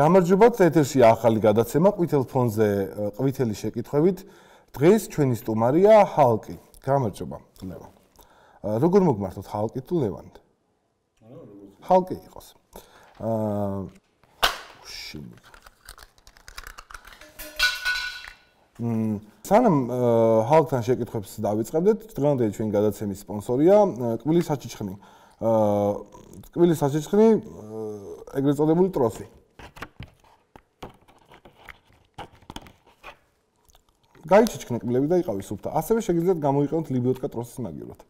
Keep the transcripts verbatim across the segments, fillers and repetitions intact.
გამარჯობათ, ეთერში ახალი გადაცემა ყვითელ ფონზე ყვითელი შეკითხვებით. დღეს ჩვენი სტუმარია ჰალკი. გამარჯობა, ლევან. როგორ მოგმართოთ ჰალკი თუ ლევან? ჰალკი იყოს. აა შიმ. მ სანამ ჰალკთან შეკითხვებს დავიწყებდეთ, დღევანდელი ჩვენი გადაცემის სპონსორია კბილის საჩიჩხნი. აა კბილის საჩიჩხნი ეგრეთ წოდებული ტროსი. გაიჩიჩქნე კბილები და იყავი სუფთა. ასევე შეგიძლიათ გამოიყენოთ ლიბიოტკა ტროსის მაგივრად.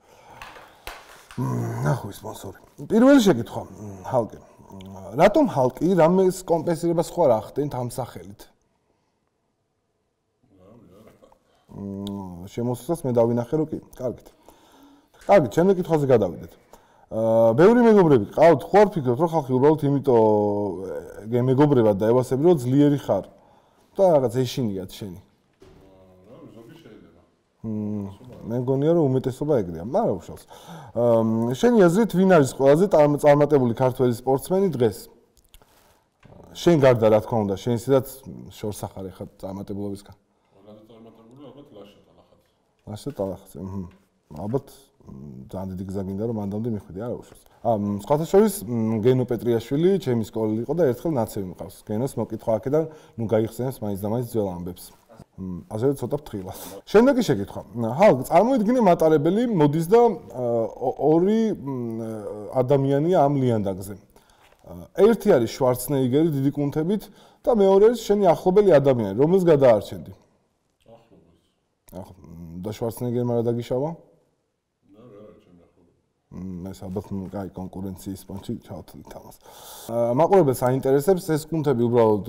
ნახო სპონსორი. პირველი შეკითხვა, ჰალკი. რატომ ჰალკი რამეს კომპენსირებას ხო არ ახდენთ ამ სახელით? მ შემოსვლას მე დავინახე რომ კი. კარგით. კარგი, ჩემი კითხვაზე გადავიდეთ. აა ბევრი მეგობრები ყავთ, ხო არ ფიქრობთ რომ ხალხი უბრალოდ იმიტომ მეგობრებად დაევასები რომ ძლიერი ხარ და რაღაც ეშინიათ შენი. მე მგონია რომ უმეტესობა ეგრეა, მაგრამ უშავს. შენი აზრით ვინ არის ყველაზე წარმატებული ქართველი სპორტსმენი დღეს? შენ გარდა რა თქმა უნდა, შენ ისედაც შორს ახარ ეხლა წარმატებულობისგან. ყველაზე წარმატებული ალბათ ლაშა ტალახაძე. ლაშა ტალახაძე, აჰა. ალბათ ძალიან დიდი გზა გინდა რომ მანდამდე მიხვიდე, არა უშავს. აა სხვათა შორის გენო პეტრიაშვილი ჩემი სკოლელი იყო და ერთხელ ნაცევი მყავს. გენოს მოკითხვა აქედან, ნუ გაიხსენებს მაინც და მაინც ძველ ამბებს. ასევე ცოტა ფრთხილად. შემდეგი შეკითხვა. ჰალკ, წარმოიდგინე მატარებელი მოდის და ორი ადამიანია ამ ლიანდაგზე. ერთი არის შვარცნეიგერი დიდი კუნთებით და მეორე არის შენი ახლობელი ადამიანი, რომელს გადაარჩენდი? ახლობელს. ახლა და შვარცნეიგერმა რა დაგიშავა? და რა რა ჩემი ახლობელი. ეს ალბათ კაი კონკურენციის პონჩი ჩავთვლით ამას. მაყურებელს აინტერესებს ეს კუნთები უბრალოდ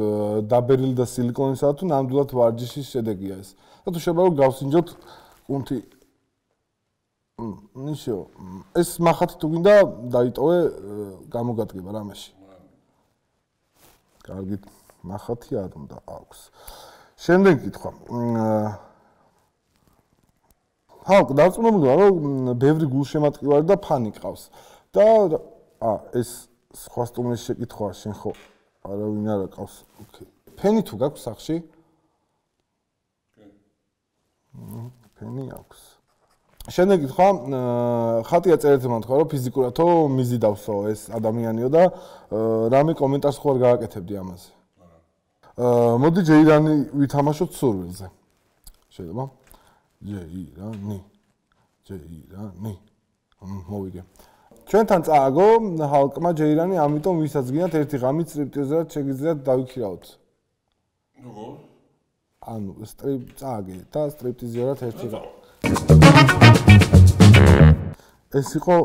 დაბერილი და სილიკონისაა თუ ნამდვილად ვარჯიშის შედეგია ეს. და თუ შეიძლება რომ გავსინჯოთ კუნთი ნიშო ეს მახათი თუ გინდა დაიტოვე გამოგადგება რამეში. კარგით, მახათი არ უნდა აქვს. შემდეგი კითხვა. ჰალკ, დარწმუნებულია რომ ბევრი გულშემატკივარი და ფანი ყავს. და ა ეს სხვა სტუმრის შეკითხვაა, შენ ხო არავინ არ ყავს. ოკეი. ფენი თუ გაქვს სახში? კი. ფენი აქვს. შემდეგი კითხვა, ხატია წერეთ მომთქვა რომ ფიზიკურათო მიზიდავსო ეს ადამიანიო და რამე კომენტარს ხო არ გააკეთებდი ამაზე. აა მოდი ჯეირანი ვითამაშოთ სურვილზე. შეიძლება? ჯეირანი. ჯეირანი. მოვიგე. ჩვენთან წააგო ჰალკმა ჯეირანი, ამიტომ ვისაც გინდათ ერთი ღამით სტრიპტიზერად შეგიძლიათ დავიქირავოთ. როგორ? ანუ სტრიპ წააგე და სტრიპტიზერად ერთი ღამით. ეს იყო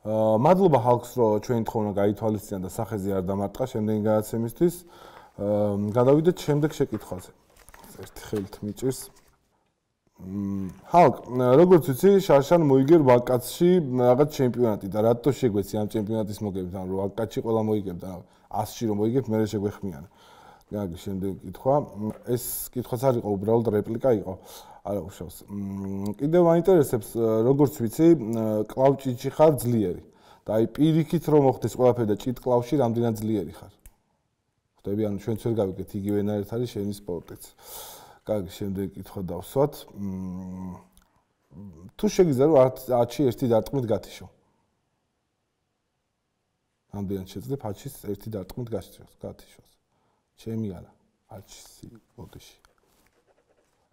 აა მადლობა ჰალკს რომ ჩვენი თხოვნა გაითვალისწინა და სახეზე არ დამარტყა შემდეგი გადაცემისთვის. აა გადავიდეთ შემდეგ შეკითხვაზე. ერთი ხელით მიჭირს. ჰალკ, როგორც ვიცი, შარშან მოიგერ ვაკაცში რაღაც ჩემპიონატი და რატო შეგვეცი ამ ჩემპიონატის მოგებით, ანუ ვაკაცში ყველა მოიგებდა, ასში რომ მოიგებ, მე შეგვეხმიანე. გაგი, შემდეგი კითხვა. ეს კითხვაც არ იყო, უბრალოდ რეპლიკა იყო. არა უშავს. კიდევ მაინტერესებს, როგორც ვიცი, კლავჭიჩი ხარ ძლიერი. და აი პირიქით რომ მოხდეს ყველაფერი და ჭით კლავში რამდენად ძლიერი ხარ. ხვდები, ანუ ჩვენც ვერ გავიგეთ იგივენაირად არის შენი სპორტიც. კარგი, შემდეგი კითხვა დავსვათ. თუ შეგიძლია რომ ათში ერთი დარტყმით გათიშო. რამდენად შეძლებ ათში ერთი დარტყმით გათიშოს, გათიშოს. ჩემი არა, ათში ბოდიში.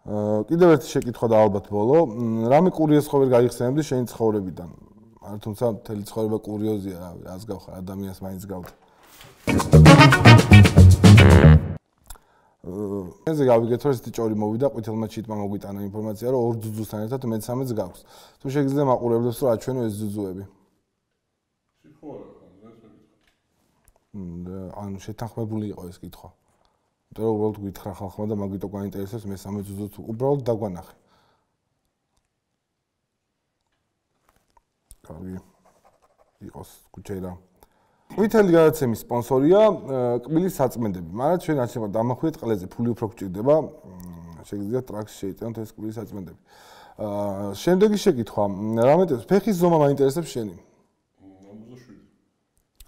აა კიდევ ერთი შეკითხვა და ალბათ ბოლო. რამე კურიოზს ხო ვერ გაიხსენებდი შენი ცხოვრებიდან? არა, თუმცა მთელი ცხოვრება კურიოზია, რავი, რას გავხარ, ადამიანს მაინც გავდა. ესე გავიგეთ რომ ესეთი ჭორი მოვიდა, ყვითელმა ჩიტმა მოგვიტანა ინფორმაცია რომ ორ ძუძუსთან ერთად მეცამეტს გაქვს. თუ შეგიძლია მაყურებლებს რომ აჩვენო ეს ძუძუები. სიხოარა, ეს მეკითხა. ანუ შეთანხმებული იყო ეს კითხვა. იმიტომ რომ უბრალოდ გითხრა ხალხმა და მაგიტო გაინტერესებს მესამე ძუძუც უბრალოდ დაგვანახე. კარგი. იყოს კუჩერა. ყვითელი გადაცემის სპონსორია კბილის საწმენდები. მაგრამ ჩვენ არჩევთ დამახვიეთ ყლეზე, ფული უფრო გჭირდება. შეგიძლიათ ტრაქში შეიტანოთ ეს კბილის საწმენდები. აა შემდეგი შეკითხვა, რა მეტყვი, ფეხის ზომა მაინტერესებს შენი? ორმოცდაშვიდი.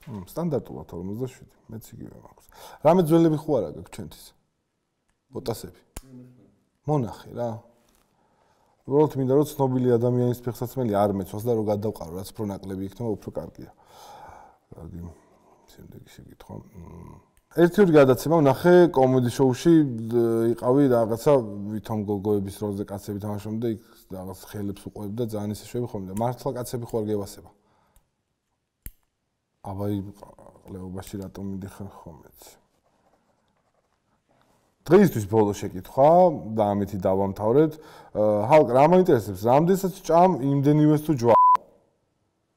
მ სტანდარტულად ორმოცდაშვიდი, მეც იგივე მაქვს. რამე ძველები ხო არა გაქვს ჩვენთვის? ბოტასები. მონახე რა. უბრალოდ მინდა რომ ცნობილი ადამიანის ფეხსაცმელი არ მეცვას და რომ გადავყარო, რაც უფრო ნაკლები იქნება, უფრო კარგია. კარგი. შემდეგი შეკითხვა. ერთი ორი გადაცემა ვნახე კომედი შოუში იყავი რაღაცა ვითომ გოგოების როლზე კაცები თამაშობდნენ და იქ რაღაც ხელებს უყვებდა და ძალიან ისე შვები ხოლმე და მართლა კაცები ხო არ გევასება. აბა ყლეობაში რატომ მიდიხარ ხომეც. დღეისთვის ბოლო შეკითხვა და ამითი დავამთავრეთ. ჰალკ რა მაინტერესებს, რამდენსაც ჭამ იმდენივეს თუ ჯვა?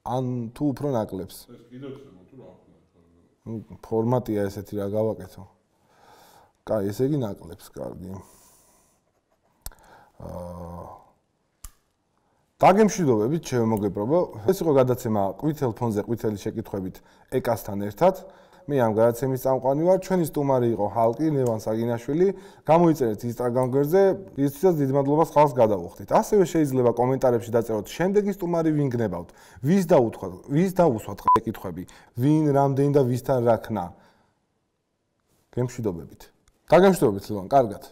ან თუ უფრო ნაკლებს? ეს კიდევ ხდება თუ რა ხდება? ფორმატია ესეთი რა გავაკეთო. კაი, ესე იგი ნაკლებს, კარგი. აა დაგემშვიდობებით, შემოგეპრობა. ეს იყო გადაცემა ყვითელ ფონზე ყვითელი შეკითხვებით ეკასთან ერთად. მე ამ გადაცემის წამყვანი ვარ. ჩვენი სტუმარი იყო ჰალკი, ლევან საგინაშვილი. გამოიწერეთ Instagram გვერდზე, ისიც დიდ მადლობას ხალხს გადავუხდით. ასევე შეიძლება კომენტარებში დაწეროთ შემდეგი სტუმარი ვინ გნებავთ. ვის დაუთქვათ, ვის დაუსვათ შეკითხვები, ვინ რამდენი და ვისთან რა ქნა. გემშვიდობებით. დაგემშვიდობებით ლევან, კარგად.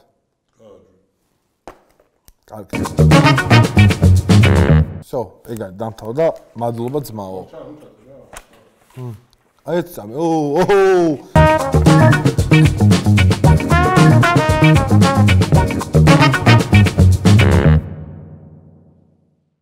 კარგი. So, ეგა დამთავრდა. მადლობა ძმაო. აი ეს წამე. ო, ო.